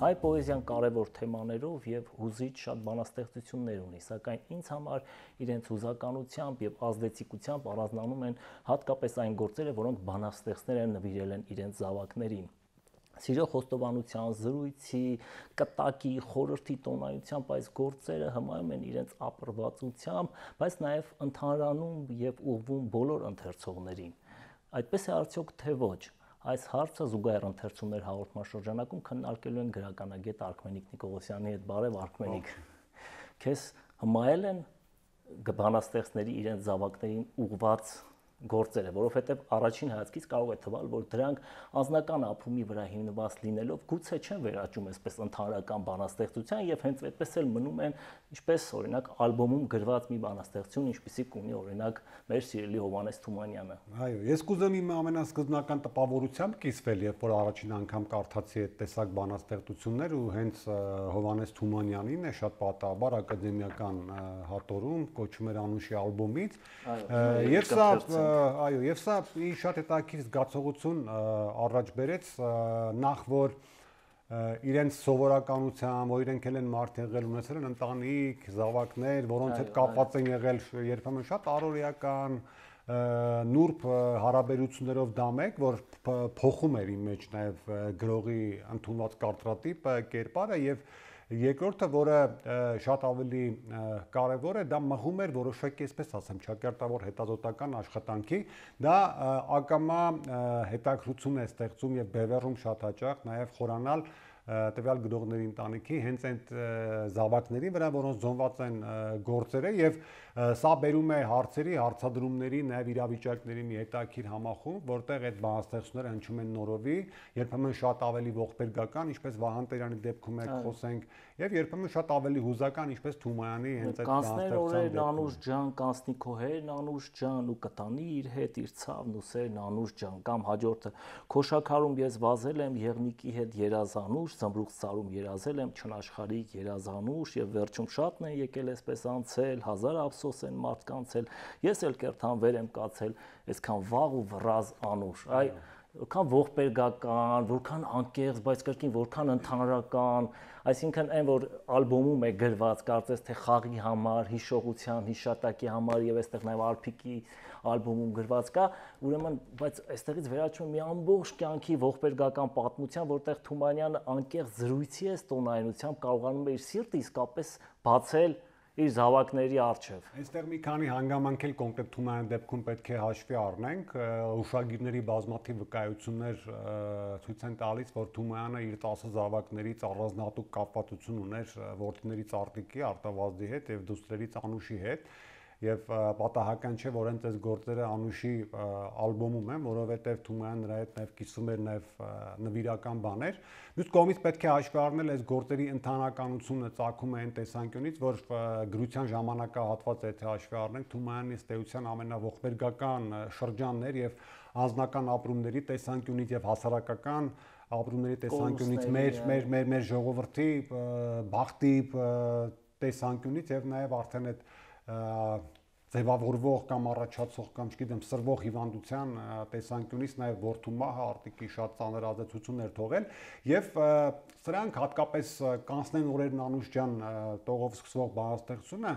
հայ պոեզիան կարևոր թեմաներով եւ հուզիչ շատ բանաստեղծություններ ունի, սակայն ինձ համար իրենց հուզականությամբ եւ ազդեցիկությամբ առանձնանում են հատկապես այն գործերը, որոնք բանաստեղծները նվիրել են իրենց զավակներին։ Սիրո խոստովանության, զրույցի, կտակի, խորհրդի տոնայությամբ այս գործերը հմայում են իրենց ապրվածությամբ, բայց նաև ընդհանրանում եւ ուղղվում բոլոր ընթերցողներին։ Այդպես է արդյոք թե ոչ։ Այս հարցը զուգահեռ ընթերցումներ հաղորդման շրջանակում քննարկելու են գրականագետ Արքմենիկ Նիկողոսյանի հետ։ Բարև Արքմենիկ։ Քեզ հմայել են բանաստեղծների իրենց զավակներին ուղղված գործերը, որովհետև առաջին հայացքից կարող է թվալ, որ դրանք անձնական ապրումի վրա հիմնված լինելով գուցե չեն վերաճում այսպես ընդհանրական բանաստեղծության եւ հենց այդպես էլ մնում են, ինչպես օրինակ ալբոմում գրված մի բանաստեղծություն, ինչպիսիք ունի օրինակ մեր սիրելի Հովհաննես Թումանյանը։ Այո, ես կուզեմ իմ ամենասկզբնական տպավորությամբ կիսվել, երբ որ առաջին անգամ կարդացի այդ տեսակ բանաստեղծություններ ու հենց Հովհաննես Թումանյանին է շատ պատահաբար ակադեմիական հատորում կոչում էր Անուշի ալբոմից, եւ սա այո, եւ սա շատ հետաքրքիր զգացողություն առաջ բերեց, նախ որ իրենց սովորականությամբ, որ իրենք են մարդ եղել, ունեցել են ընտանիք, զավակներ, որոնց հետ կապված են եղել երբեմն շատ առօրեական նուրբ հարաբերություններով դա մեկ, որ փոխում էր իմ մեջ նաև գրողի ընդունված կարծրատիպը, կերպարը եւ երկրորդը, որը շատ ավելի կարևոր է, դա մղում էր որոշակի, այսպես ասեմ, ճակերտավոր հետազոտական աշխատանքի, դա ակամա հետաքրություն է ստեղծում եւ բևեռում շատ հաճախ նաեւ խորանալ տվյալ գրողների ընտանիքի հենց այդ զավակների վրա, որոնց զոնված են գործերը եւ սա բերում է հարցերի, հարցադրումների, նաեւ իրավիճակների մի հետաքրքիր համախումբ, որտեղ այդ բանաստեղծությունները հնչում են նորովի, երբեմն շատ ավելի ողբերգական, ինչպես Վահան Տերյանի դեպքում եք խոսենք, եւ երբեմն շատ ավելի հուզական, ինչպես Թումանյանի հենց այդ բանաստեղծության դեպքում։ Անուշ ջան, կանցնի քո հերն Անուշ ջան ու կտանի իր հետ իր ցավն ու սերն Անուշ ջան, կամ հաջորդը Քոշաքարում ես վազել եմ եղնիկի հետ երազանուշ, զմրուխտ սարում երազել եմ չնաշխարհիկ երազանուշ եւ վերջում շատն են եկել այսպես անցել, հազար ափսոս են մարդկանցել, ես էլ կերթանվեր եմ կացել, այսքան վաղ ու վռազ Անուշ, այ որքան ողբերգական, որքան անկեղծ, բայց կրկին որքան ընդհանրական, այսինքն այն որ ալբոմում է գրված, կարծես թե խաղի համար, հիշողության, հիշատակի համար եւ այստեղ նաեւ Արփիկի ալբոմում գրված կա, ուրեմն, բայց այստեղից վերաճում մի ամբողջ կյանքի ողբերգական պատմության, որտեղ Թումանյանը անկեղծ զրույցի է տոնայնությամբ կարողանում է իր սիրտը իսկապես բացել իր զավակների առջև։ Այստեղ մի քանի հանգամանք էլ կոնկրետ Թումանյանի դեպքում պետք է հաշվի առնենք, ուշագիրների բազմաթիվ վկայություններ ցույց են տալիս, որ Թումանյանը իր 10 զավակներից առանձնահատուկ կապվածություն ուներ որդիների Արտիկի, Արտավազդի հետ եւ դուստրերից Անուշի հետ։ Եվ պատահական չէ, որ հենց այս գործերը Անուշի ալբոմում են, որովհետև Թումանյանը նրա հետ նաև կիսվում էր նաև նվիրական բաներ։ Մյուս կողմից պետք է հաշվի առնել այս գործերի ընդհանրականությունը ծագում է այն տեսանկյունից, որ գրության ժամանակահատվածը եթե հաշվի առնենք, Թումանյանի ըստ էության ամենաողբերգական շրջանն էր եւ անձնական ապրումների տեսանկյունից եւ հասարակական ապրումների տեսանկյունից մեր ժողովրդի բախտի տեսանկյունից եւ նաեւ արդեն այդ ձևավորվող կամ առաջացող կամ չգիտեմ սրվող հիվանդության տեսանկյունից նաև որդու մահը Արտիկի շատ ծանր ազդեցություններ թողել եւ սրանք հատկապես կանցնեն օրերն Անուշ ջան տողով սկսվող բանաստեղծությունը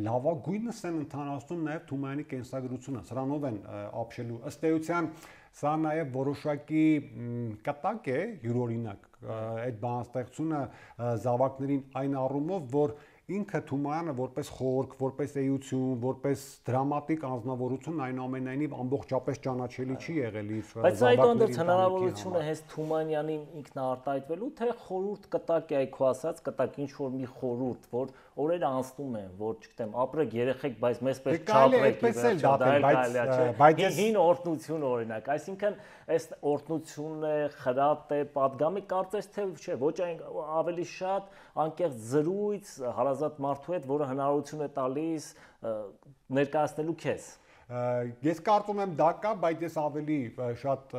լավագույնս են ընդհանրացնում նաև Թումանյանի կենսագրությունը սրանով են ապշելու ըստ էության սա նաև որոշակի կտակ է յուրօրինակ այդ բանաստեղծությունը զավակներին այն առումով որ ինքը Թումանյանը որպես խորք, որպես էություն, որպես դրամատիկ անձնավորություն այնուամենայնիվ ամբողջապես ճանաչելի չի եղել իր բայց այդուհանդերձ հնարավորությունը հենց Թումանյանին ինքնաարտահայտվելու թե խորուրդ կտակ է այ քո ասած կտակ ինչ որ մի խորուրդ որ օրերը անցնում են որ չգիտեմ ապրեք երեխեք բայց մեզ պես չապրեք բայց հին օրտնություն օրինակ այսինքն այս օրտնությունն է խրատ է պատգամի կարծես թե չէ ոչ ավելի շատ անկեղծ զրույց հարազատ մարդու հետ որը հնարավորություն է տալիս ներկայացնելու քեզ Ես կարծում եմ դա կա, բայց ես ավելի շատ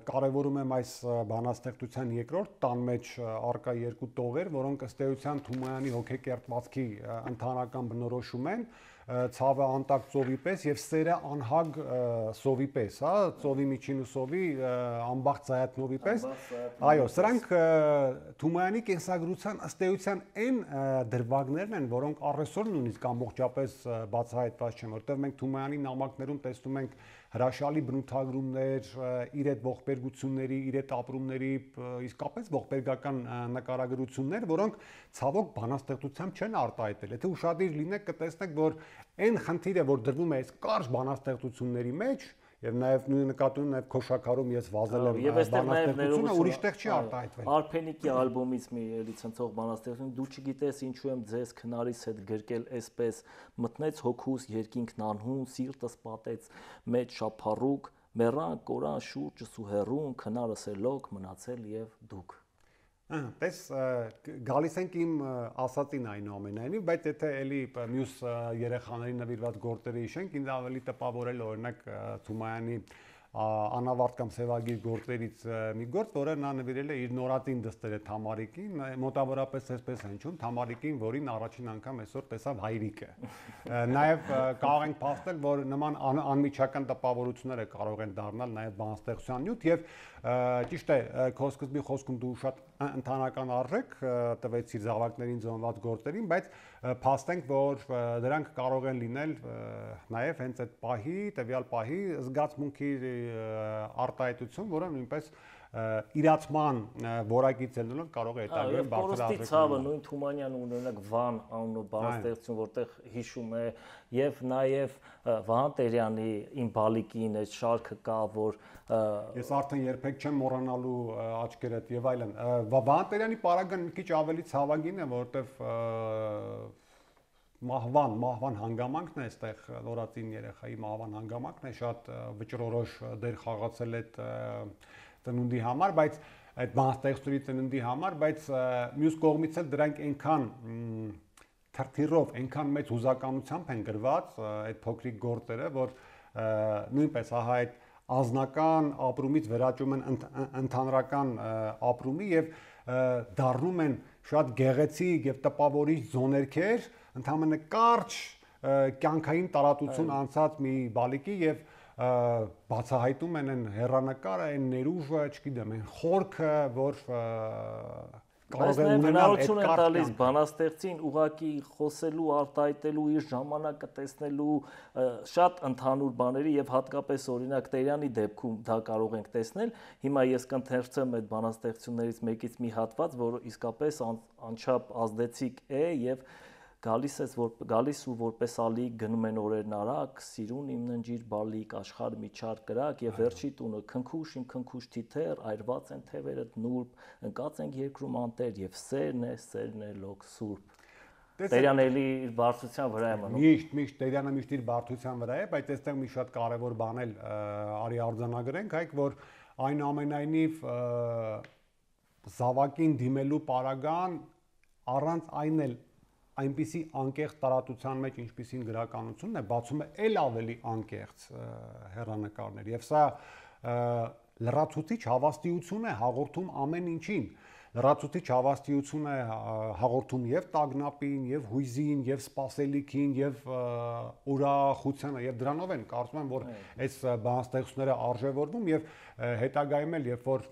կարևորում եմ այս բանաստեղծության երկրորդ տան մեջ առկա երկու տողեր, որոնք ըստ էության Թումանյանի հոգեկերտվածքի ընդհանրական բնորոշում են, ցավը անտակ ծովի պես եւ սերը անհագ սովի պես, հա, ծովի միջին ու սովի ամբախ ծայատնովի պես։ Այո, սրանք Թումանյանի կենսագրության ըստ էության այն դրվագներն են, որոնք առեսօր նույնիսկ ամբողջապես բացահայտված չեն, որտեղ մենք Թումանյանի նամակներում տեսնում ենք հրաշալի բնութագրումներ, իր այդ ողբերգությունների, իր այդ ապրումների, իսկապես ողբերգական նկարագրություններ, որոնք ցավոք բանաստեղծությամբ չեն արտահայտել։ Եթե ուշադիր լինեք, կտեսնեք, որ այն խնդիրը, որ դրվում է այս կարճ բանաստեղծությունների մեջ, եւ նաեւ նույն նկատում նաեւ Քոշակարում ես վազել եմ բանաստեղծությունը ուրիշ տեղ չի արտահայտվել։ Արփենիկի ալբոմից մի էլի ցնցող բանաստեղծություն, դու չգիտես ինչու եմ ձեզ քնարիս հետ գրկել այսպես, մտնեց հոգուս երկինքն անհուն, սիրտս պատեց մեջ շափառուկ, մեռան կորան շուրջս ու հեռուն, քնարս է լոկ, մնացել եւ դուք։ Տես գալիս ենք իմ ասածին այնուամենայնիվ, բայց եթե էլի մյուս երեխաների նվիրված գործերը հիշենք, ինձ ավելի տպավորել օրինակ Թումանյանի անավարտ կամ սևագիր գործերից մի գործ, որը նա նվիրել է իր նորածին դստերը Թամարիկին, մոտավորապես այսպես հնչում Թամարիկին, որին առաջին անգամ այսօր տեսավ հայրիկը։ Նաև կարող ենք փաստել, որ նման անմիջական տպավորությունները կարող են դառնալ նաև բանաստեղծության նյութ եւ ճիշտ է, քո սկզբի խոսքում դու շատ ընդհանրական արժեք տվեցիր զավակներին զոնված գործերին, բայց փաստենք, որ դրանք կարող են լինել նաև հենց այդ պահի, տվյալ պահի զգացմունքի արտահայտություն, որը նույնպես իրացման որակից ելնելով կարող է հետագայում բարձր արժեք։ Ցավը նույն Թումանյանը ունենակ Վան անունով բանաստեղծություն, որտեղ հիշում է եւ նաեւ Վահան Տերյանի Իմ բալիկին այդ շարքը կա, որ ես արդեն երբեք չեմ մոռանալու աչքերդ եւ այլն։ Վահան Տերյանի պարագան մի քիչ ավելի ցավագին է, որտեղ մահվան հանգամանքն է այստեղ նորածին երեխայի մահվան հանգամանքն է շատ վճռորոշ դեր խաղացել այդ ծնունդի համար, բայց այդ բանաստեղծությունների ծնունդի համար, բայց մյուս կողմից էլ դրանք այնքան թրթիրով, այնքան մեծ հուզականությամբ են գրված այդ փոքրիկ գործերը, որ նույնպես ահա այդ ազնական ապրումից վերաճում են ընդհանրական ապրումի եւ դառնում են շատ գեղեցիկ եւ տպավորիչ զոներքեր, ընդհանրապես կարճ կյանքային տարածություն անցած մի բալիկի եւ բացահայտում են այն հեռանկարը, այն ներուժը, չգիտեմ, այն խորքը, որ կարող է ունենալ այդ տալիս բանաստեղծին ուղակի խոսելու, արտահայտելու, իր ժամանակը տեսնելու շատ ընդհանուր բաների եւ հատկապես օրինակ Տերյանի դեպքում դա կարող ենք տեսնել։ Հիմա ես կընթերցեմ այդ բանաստեղծություններից մեկից մի հատված, որը իսկապես անչափ ազդեցիկ է եւ գալիս ու որպես ալի գնում են օրերն արագ, սիրուն իմ ննջիր բալիկ, աշխարհ մի չար կրակ եւ վերջի տունը քնքուշ իմ քնքուշ թիթեր, այրված են թևերդ նուրբ, ընկած ենք երկրում անտեր եւ սերն է լոկ սուրբ։ Տերյանը էլի իր բարձրության վրա է մնում։ Միշտ Տերյանը միշտ իր բարձրության վրա է, բայց այստեղ մի շատ կարևոր բան էլ արի արձանագրենք, հայք, որ այնուամենայնիվ զավակին դիմելու պարագան առանց այն էլ այնպիսի անկեղծ տարածության մեջ, ինչպիսին գրականությունն է, բացում է էլ ավելի անկեղծ հեռանկարներ եւ սա լրացուցիչ հավաստիություն է հաղորդում ամեն ինչին, լրացուցիչ հավաստիություն է հաղորդում եւ տագնապին, եւ հույզին, եւ սպասելիքին, եւ ուրախությանը, եւ դրանով են կարծում եմ, որ այս բանաստեղծությունները արժևորվում եւ հետագայում էլ երբ որ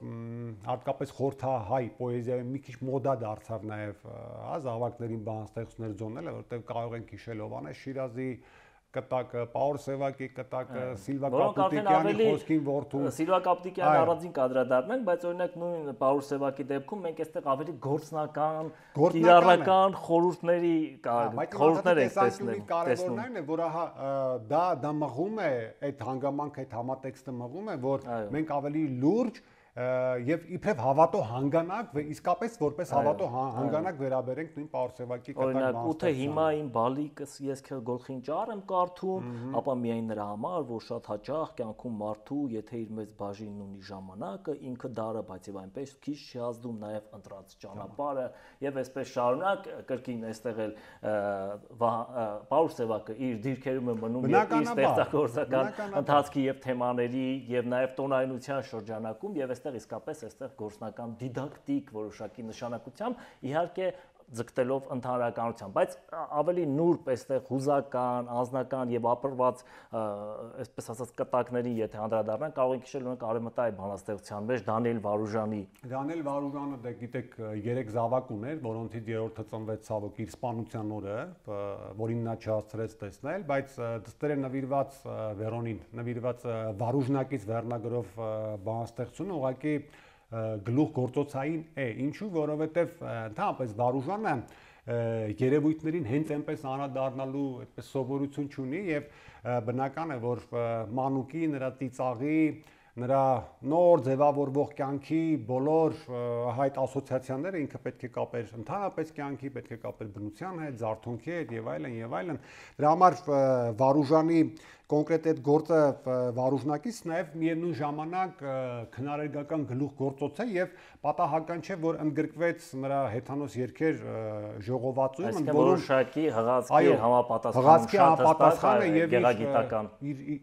հատկապես խորթահայ պոեզիայում մի քիչ մոդա դարձավ նաեւ զավակներին բանաստեղծություններ ձոնել, որտեղ կարող ենք հիշել Հովհաննես Շիրազի կտակը, Պաուլ Սևակի կտակը, Սիլվա Կապուտիկյանի խոսքին որդու։ Սիլվա Կապուտիկյանի առանձին կադրադառնանք, բայց օրինակ նույն Պաուլ Սևակի դեպքում մենք այստեղ ավելի գործնական, կիրառական խորհուրդների խորհուրդներ ենք տեսնում։ Կարևորն այն է, որ ահա դա մղում է այդ հանգամանքը, այդ համատեքստը մղում է, որ մենք ավելի լուրջ եւ իբրև հավատո հանգանակ իսկապես որպես հավատո հանգանակ վերաբերենք նույն Պարսևակի կտակ օրինակ ու թե հիմա իմ բալիկս ես գլխին ճար եմ կարդում, ապա միայն նրա համար, որ շատ հաճախ կյանքում մարդու, եթե իր մեծ բաժինն ունի ժամանակը, ինքը դարը, բայց եւ այնպես քիչ չի ազդում նաեւ ընտրած ճանապարհը եւ այսպես շարունակ կրկին այստեղ էլ Պարսևակը իր դիրքերում է մնում եւ իր ստեղծագործական ընթացքի եւ թեմաների եւ նաեւ տոնայնության շրջանակում եւ այստեղ իսկապես այստեղ գործնական դիդակտիկ որոշակի նշանակությամբ իհարկե ձգտելով ընդհանրականության, բայց ավելի նուրբ այստեղ հուզական, անձնական եւ ապրված, այսպես ասած, կտակների, եթե անդրադառնանք, կարող ենք հիշել ունենք արևմտայի բանաստեղծության մեջ Դանիել Վարուժանի։ Դանիել Վարուժանը, դե գիտեք, 3 զավակ ուներ, որոնցից երրորդը ծնվեց ցավոք իր սպանության օրը, որին նա չհասցրեց տեսնել, բայց դստեր է նվիրված Վերոնին, նվիրված Վարուժնակից վերնագրով բանաստեղծությունը ուղղակի գլուխ գործոցային է, ինչու, որովհետև ընդհանրապես Վարուժանը երևույթներին հենց այնպես անդրադառնալու այդպես սովորություն չունի եւ բնական է, որ մանուկի, նրա ծիծաղի, նրա նոր ձևավորվող կյանքի բոլոր այդ ասոցիացիաները ինքը պետք է կապեր ընդհանրապես կյանքի, պետք է կապեր բնության հետ, զարթոնքի հետ եւ այլն եւ այլն։ Դրա համար Վարուժանի կոնկրետ այդ գործը Վարուժնակից նաև միևնույն ժամանակ քնարերգական գլուխ գործոց է եւ պատահական չէ, որ ընդգրկվեց նրա հեթանոս երգեր ժողովածուում, ընդ որում որոշակի հղացքի համապատասխանը եւ գեղագիտական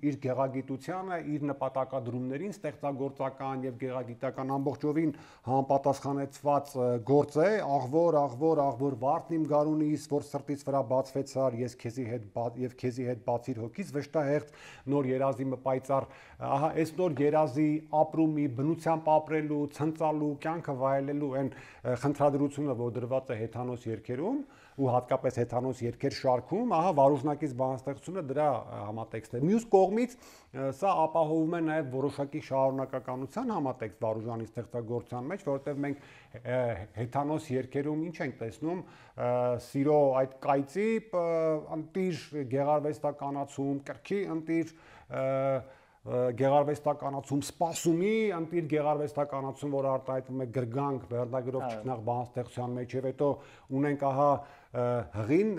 իր գեղագիտությանը, իր նպատակադրումներին ստեղծագործական եւ գեղագիտական ամբողջովին համապատասխանեցված գործ է, աղվոր վարդն իմ գարունիս, որ սրտից վրա բացվեցար, ես քեզի հետ բացիր հոգից վշտահ նոր երազի մպայծառ, ահա այս նոր երազի ապրումի, բնությամբ ապրելու, ցնծալու, կյանքը վայելելու այն խնդրադրությունը, որ դրված է հեթանոս երգերում ու հատկապես հեթանոս երգեր շարքում, ահա Վարուժնակից բանաստեղծությունը դրա համատեքստն է։ Մյուս կողմից սա ապահովում է նաև որոշակի շարունակականության համատեքստ Վարուժանի ստեղծագործության մեջ, որովհետև մենք հեթանոս երգերում ինչ ենք տեսնում, սիրո այդ կայծի ընտիր գեղարվեստականացում, կրքի ընտիր գեղարվեստականացում, սպասումի ընտիր գեղարվեստականացում, որ արտահայտվում է գրգանք վերնագրով ճգնաղ բանաստեղծության մեջ եւ հետո ունենք ահա հղին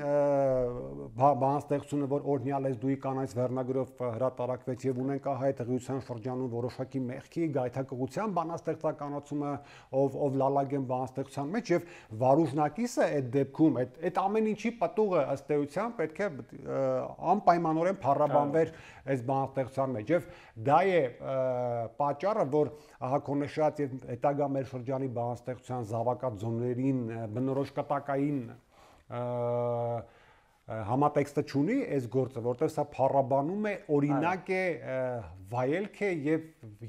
բանաստեղծությունը, որ օրհնյալ ես դուի կանայց վերնագրով հրատարակվեց եւ ունենք ահա այդ հղիության շրջանում որոշակի մեղքի գայթակղության բանաստեղծականացումը, ով լալագեն բանաստեղծության մեջ եւ Վարուժնակիսը այդ դեպքում այդ ամեն ինչի պատուղը ըստ էության պետք է անպայմանորեն փառաբանվեր այս բանաստեղծության մեջ եւ դա է պատճառը, որ ահա քո նշած եւ հետագա մեր շրջանի բանաստեղծության զավակաձոներին բնորոշ կտակային համատեքստը չունի այս գործը, որտեղ սա փառաբանում է, օրինակ է, վայելք է եւ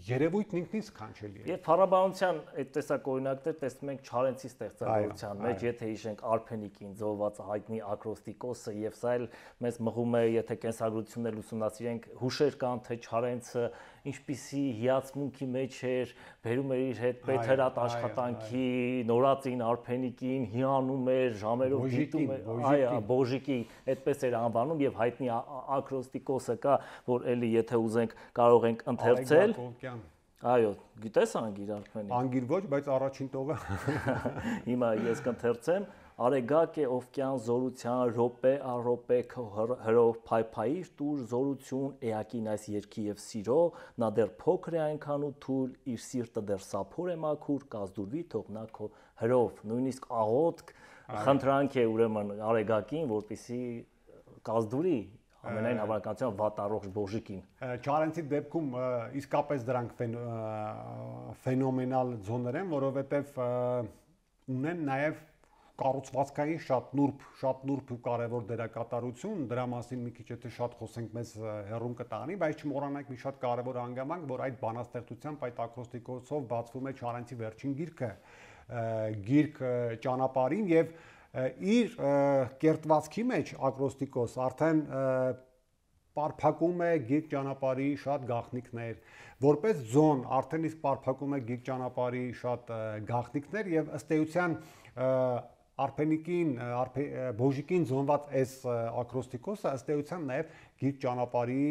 երևույթն ինքնին սքանչելի է։ Եվ փառաբանության այդ տեսակ օրինակներ տեսնում ենք Չարենցի ստեղծագործության մեջ, եթե հիշենք Արփենիկին զոհված հայտնի ակրոստիկոսը եւ սա էլ մեզ մղում է, եթե կենսագրություններ ուսումնասիրենք, հուշեր կան, թե Չարենցը ինչպիսի հիացմունքի մեջ էր, բերում էր իր հետ պետհրատ աշխատանքի, նորածին Արփենիկին, հիանում էր, ժամերով դիտում էր, բոժիկի, այդպես էր անվանում եւ հայտնի ակրոստիկոսը կա, որ էլի եթե ուզենք կարող ենք ընթերցել։ Այո, գիտես Անգիր Արփենիկ։ Անգիր ոչ, բայց առաջին տողը։ Հիմա ես կընթերցեմ։ Արեգակ է օվկյան զորության ռոպե առոպե հրով փայփայիր տուր զորություն էակին այս երկի եւ սիրո նա դեռ փոքր է այնքան ու թույլ իր սիրտը դեռ սափոր է մաքուր կազդուրվի թող նա քո հրով նույնիսկ աղոթք խնդրանք է ուրեմն Արեգակին որպեսի կազդուրի ամենայն հավանականությամբ վատառողջ բոժիկին։ Չարենցի դեպքում իսկապես դրանք ֆենոմենալ ձոներ են, որովհետև ունեն նաև կառուցվածքային շատ նուրբ ու կարևոր դերակատարություն, դրա մասին մի քիչ եթե շատ խոսենք մեզ հեռուն կտանի, բայց չմոռանանք մի շատ կարևոր հանգամանք, որ այդ բանաստեղծությամբ այդ ակրոստիկոսով բացվում է Չարենցի վերջին գիրք ճանապարհին եւ իր կերտվածքի մեջ ակրոստիկոս արդեն պարփակում է գիրք ճանապարհի շատ գաղտնիքներ, որպես ձոն արդեն իսկ պարփակում է գիրք ճանապարհի շատ գաղտնիքներ եւ ըստ էության Արփենիկին, բոժիկին զոնված այս ակրոստիկոսը ըստ էության նաև գիրք ճանապարհի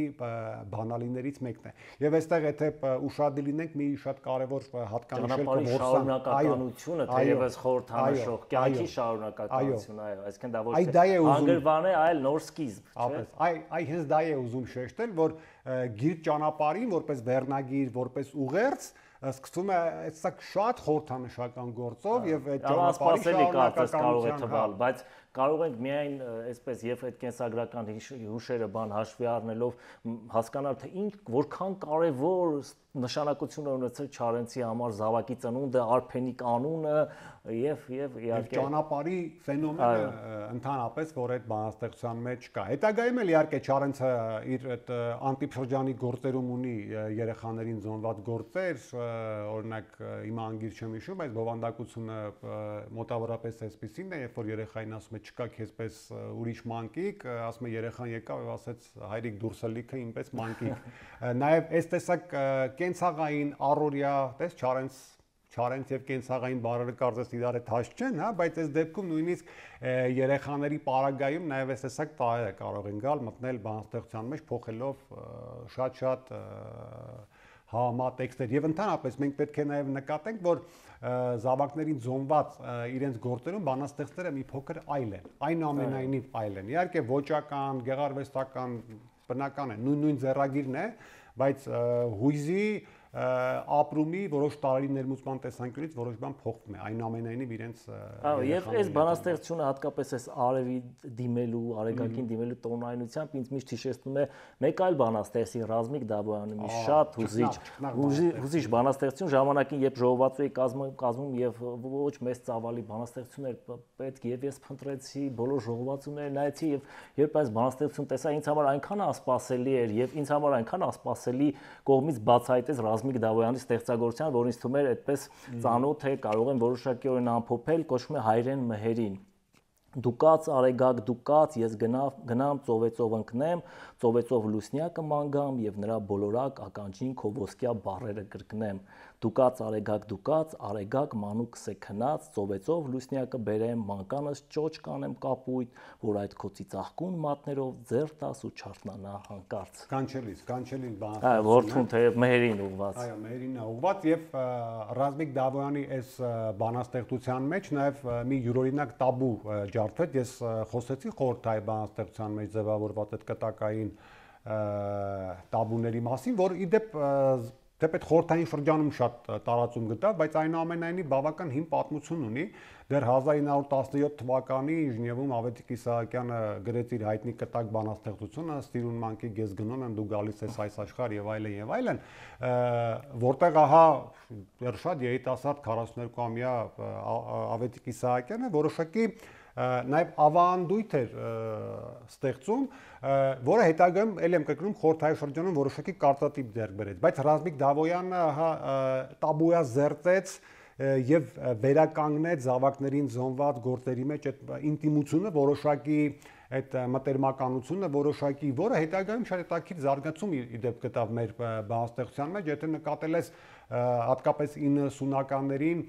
բանալիներից մեկն է։ Եվ այստեղ եթե ուշադիր լինենք մի շատ կարևոր հատկանիշել ճանապարհի շարունակականությունը, թեևս խորհրդանշող կյանքի շարունակականություն, այո, այսինքն դա ոչ թե հանգրվան է, այլ նոր սկիզբ, չէ՞։ Այ հենց դա է ուզում շեշտել, որ գիրք ճանապարհին որպես վերնագիր, որպես ուղերձ սկսվում է այդսակ շատ խորհրդանշական գործով եւ այդ ճանապարհի շարունակականությունը կարող է թվալ, բայց կարող ենք միայն այսպես եւ այդ կենսագրական հուշերը բան հաշվի առնելով հասկանալ թե որքան կարեւոր նշանակություն ունեցել Չարենցի համար Զավակի ծնունդը, Արփենիկ անունը եւ իհարկե ճանապարհի ֆենոմենը ընդհանրապես, որ այդ բանաստեղծության մեջ կա։ Հետագայում էլ իհարկե Չարենցը իր այդ անտիփշրջանի գործերում ունի երեխաներին զոնված գործեր, օրինակ հիմա անգիր չեմ հիշում, բայց բովանդակությունը մոտավորապես այսպեսին է, երբ որ երեխային ասում է չկա քեզպես ուրիշ մանկիկ, ասում է երեխան եկավ եւ ասեց հայրիկ դուրսը լիքը ինպես մանկիկ։ Նաեւ այս տեսակ կենցաղային առօրյա, տես Չարենց եւ կենցաղային բառերը կարծես իրար հետ հաշ չեն, հա, բայց այս դեպքում նույնիսկ երեխաների պարագայում նաեւ այս տեսակ տարերը կարող են գալ մտնել բանաստեղծության մեջ, փոխելով շատ համա տեքստեր եւ ընդհանրապես մենք պետք է նաեւ նկատենք, որ զավակներին զոնված իրենց գործերում բանաստեղծները մի փոքր այլ են, այնուամենայնիվ այլ են։ Իհարկե ոճական, գեղարվեստական բնական է, նույն ձեռագիրն է, բայց հույզի ապրումի որոշ տարերի ներմուծման տեսանկյունից որոշ բան փոխվում է, այնուամենայնիվ իրենց եւ այս բանաստեղծությունը հատկապես այս արևի դիմելու, արեգակին դիմելու տոնայնությամբ ինձ միշտ հիշեցնում է մեկ այլ բանաստեղծի Ռազմիկ Դավոյանի մի շատ հուզիչ բանաստեղծություն ժամանակին, երբ ժողովածու էի կազմում եւ ոչ մեծ ծավալի բանաստեղծություններ պետք եւ ես փնտրեցի բոլոր ժողովածուները նայեցի եւ երբ այս բանաստեղծություն տեսա ինձ համար այնքան ասպասելի էր եւ ինձ համար այնքան ասպասելի կողմից բացահայտեց Ռազմիկ Դավոյանի ստեղծագործության, որ ինձ թվում էր այդպես ծանոթ է, կարող են որոշակիորեն ամփոփել, կոչվում է Հայրեն մհերին։ Դուկաց արեգակ դուկաց, ես գնամ ծովեծով ընկնեմ, ծովեծով լուսնյակը մանգամ եւ նրա բոլորակ ականջին քո ոսկյա բառերը կրկնեմ։ Դուկաց արեգակ, արեգակ մանուկ սեքնած, ծովեծով լուսնյակը բերեմ, մանկանս ճոճ կանեմ կապույտ, որ այդ քո ծիծաղկուն մատներով ձեռ տաս ու չարթնանա հանկարծ։ Կանչելի բան։ Այո, որդուն թեև մհերին ուղված։ Այո, մհերին է ուղված եւ Ռազմիկ Դավոյանի այս բանաստեղծության մեջ նաեւ մի յուրօրինակ տաբու ջարդվեց, ես խոսեցի խորհրդային բանաստեղծության մեջ ձևավորված այդ կտակային տաբուների մասին, որ իդեպ Թեպետ խորհրդային շրջանում շատ տարածում գտավ, բայց այնուամենայնիվ բավական հին պատմություն ունի։ Դեռ 1917 թվականի Ժնևում Ավետիք Իսահակյանը գրեց իր հայտնի կտակ բանաստեղծությունը «Ստիրուն մանկիկ ես գնում եմ, դու գալիս ես այս աշխարհ» եւ այլն, որտեղ ահա դեռ շատ երիտասարդ 42-ամյա Ավետիք Իսահակյանը որոշակի նաև ավանդույթ էր ստեղծում, որը հետագայում ել եմ կրկնում խորհրդային շրջանում որոշակի կարծատիպ ձեռք բերեց, բայց Ռազմիկ Դավոյանը տաբուя զերծեց եւ վերականգնեց զավակներին զոնված գործերի մեջ այդ ինտիմությունը, որոշակի այդ մտերմականությունը, որոշակի, որը հետագայում շատ հետաքրքիր զարգացում իդեպ գտավ մեր բանաստեղծության մեջ, եթե նկատել ես հատկապես 90-ականներին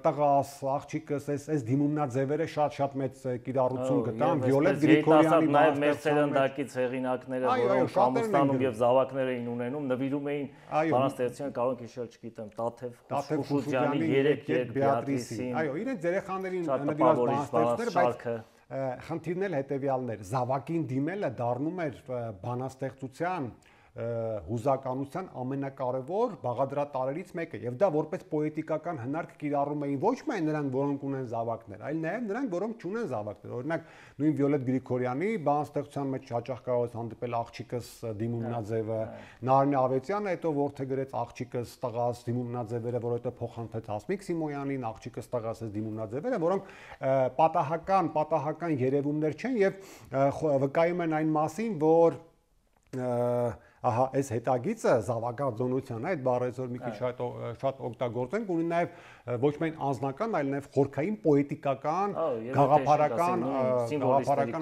տղաս, աղջիկս, այս դիմումնաձևերը շատ մեծ կիրառություն գտան, Վիոլետ Գրիգորյանի նաև մեր սերնդակից հեղինակները, որոնք Ամստանում եւ զավակներ էին ունենում, նվիրում էին բանաստեղծության, կարող եք հիշել, չգիտեմ, Տաթև Խուշուջյանի 3 Բեատրիսին։ Այո, իրենց երեխաներին նվիրված բանաստեղծներ, բայց խնդիրն էլ հետեւյալն էր, զավակին դիմելը դառնում էր բանաստեղծության հուզականության ամենակարևոր բաղադրատարերից մեկը եւ դա որպես պոետիկական հնարք կիրառում էին ոչ միայն նրանք, որոնք ունեն զավակներ, այլ նաեւ նրանք, որոնք չունեն զավակներ։ Օրինակ նույն Վիոլետ Գրիգորյանի բանաստեղծության մեջ հաճախ կարող է հանդիպել աղջիկս դիմումնաձևը, Նարինե Ավետյանը հետո որթե գրեց աղջիկս տղաս դիմումնաձևերը, որովհետեւ փոխանցեց Հասմիկ Սիմոնյանին աղջիկս տղաս դիմումնաձևերը, որոնք պատահական երևումներ չեն եւ վկայում են այն մասին, որ ահա այս հետագիծը զավակաձոնության այդ բառերով մի քիչ շատ օգտագործենք, ունի նաև ոչ միայն անձնական, այլ նաև խորքային պոետիկական, գաղափարական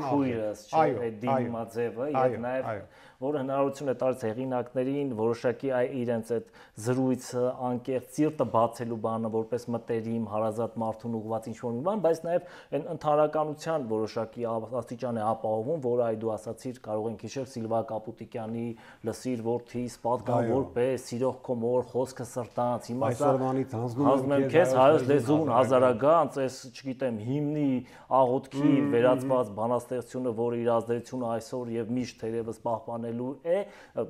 քույրս, այդ դիմաձևը եւ նաև որը հնարավորություն է տալիս հեղինակներին որոշակի իրենց այդ զրույցը, անկեղծ սիրտը բացելու բանը որպես մտերիմ, հարազատ մարդուն ուղղված ինչ-որ մի բան, բայց նաև այն ընդհանրականության որոշակի աստիճան է ապահովում, որը այ դու ասացիր, կարող ենք հիշել Սիլվա Կապուտիկյանի լսիր որդիս, պատկան որպես սիրող քո մոր խոսքը սրտանց, հիմա այսօրվանից հանձնում եմ քեզ հայոց լեզուն հազարագանց, այս չգիտեմ հիմնի աղոթքի վերածված բանաստեղծությունը, որը իր ազդեցությունը այսօր եւ միշտ թերևս պահպանել անելու է,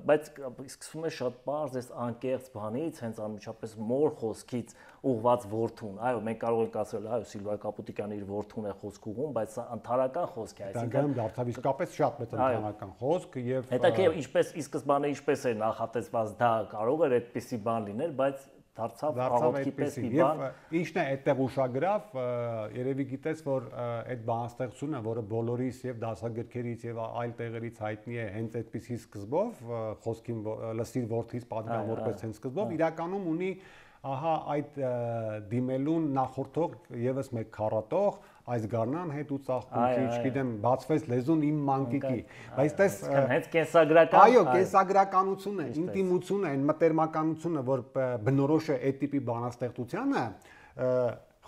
բայց սկսում է շատ բարձ այս անկեղծ բանից, հենց անմիջապես մոր խոսքից ուղված որդուն։ Այո, մենք կարող ենք ասել, այո, Սիլվիա Կապուտիկյանը իր որդուն է խոսք ուղղում, բայց սա ընդհանրական խոսք է, այսինքն դարձավ իսկապես շատ մեծ ընդհանրական խոսք եւ հետաքրքիր ինչպես ի սկզբանե ինչպես էր նախատեսված, դա կարող էր այդպիսի բան լինել, բայց դարձավ աղոթքի պես մի բան։ Ինչն է այդտեղ ուշագրավ, երևի գիտես, որ այդ բանաստեղծությունը, որը բոլորիս եւ դասագրքերից եւ այլ տեղերից հայտնի է հենց այդպիսի սկզբով, խոսքին լսիր որդից պատգամ որպես հենց սկզբով, իրականում ունի ահա այդ դիմելուն նախորդող եւս մեկ քառատող այս գարնան հետ ու ծաղկունքի, չգիտեմ, բացվեց լեզուն իմ մանկիկի, բայց տես հենց կենսագրական, այո, կենսագրականությունը, ինտիմությունը, այն մտերմականությունը, որ բնորոշ է այդ տիպի բանաստեղծությանը,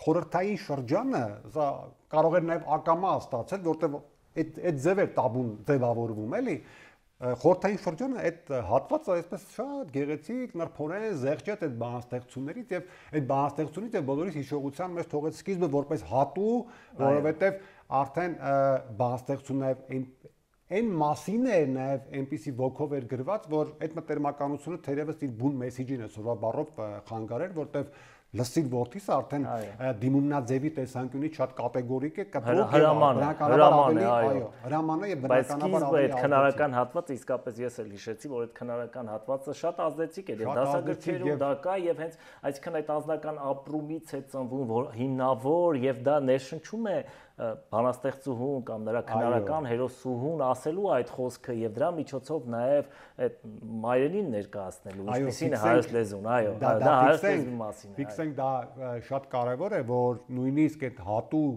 խորհրդային շրջանը, սա կարող էր նաև ակամա ստացել, որտեղ այդ ձև էր տաբուն ձևավորվում, էլի։ Խորհրդային շրջանը այդ հատվածը այսպես շատ գեղեցիկ, նրբորեն զեղչեց այդ բանաստեղծություններից եւ այդ բանաստեղծությունից եւ բոլորիս հիշողության մեջ թողեց սկիզբը որպես հատու, որովհետեւ արդեն բանաստեղծությունն այն մասին է նաեւ այնպիսի ոգով էր գրված, որ այդ մտերմականությունը թերևս իր բուն մեսեջին է սովորաբար բառով խանգարեր, որտեղ լսիր որդիս արդեն դիմումնաձևի տեսանկյունից շատ կատեգորիկ է, կտրուկ է, բնականաբար ավելի, այո, հրաման է եւ բնականաբար ավելի։ Բայց այդ քնարական հատվածը իսկապես ես էլ հիշեցի, որ այդ քնարական հատվածը շատ ազդեցիկ էր եւ դասագրքերում դա կա եւ հենց այսքան այդ անձնական ապրումից է ծնվում, որ հիմնավոր եւ դա ներշնչում է բանաստեղծուհուն կամ նրա քնարական հերոսուհուն ասելու այդ խոսքը եւ դրա միջոցով նաեւ այդ մայրենին ներկայացնելու, ինչպեսին է հայոց լեզուն, այո, դա հայոց լեզվի մասին է։ Ֆիքսենք դա շատ կարեւոր է, որ նույնիսկ այդ հատու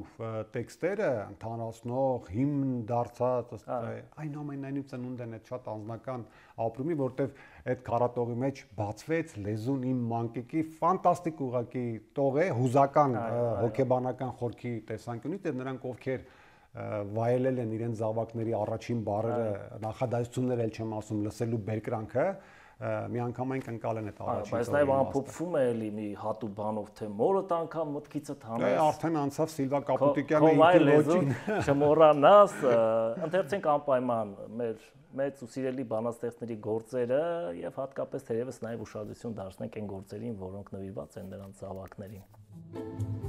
տեքստերը ընդհանրացնող հիմն դարձած այնուամենայնիվ ծնունդ են այդ շատ անձնական ապրումի, որտեվ այդ քառատողի մեջ բացվեց լեզուն իմ մանկիկի ֆանտաստիկ ուղակի տող է հուզական հոգեբանական խորքի տեսանկյունից եւ նրանք ովքեր վայելել են իրենց զավակների առաջին բառերը նախադասություններ էլ չեմ ասում լսելու բերկրանքը միանգամայն կընկալեն այդ առաջին բայց նաև ամփոփվում է էլի մի հատու բանով թե մորդ անգամ մտքիցդ հանես արդեն անցավ Սիլվա Կապուտիկյանը իր ոչին չմոռանաս ընթերցենք անպայման մեր մեծ ու սիրելի բանաստեղծների գործերը եւ հատկապես թերևս նաև ուշադրություն դարձնենք այն գործերին, որոնք նվիրված են նրանց զավակներին։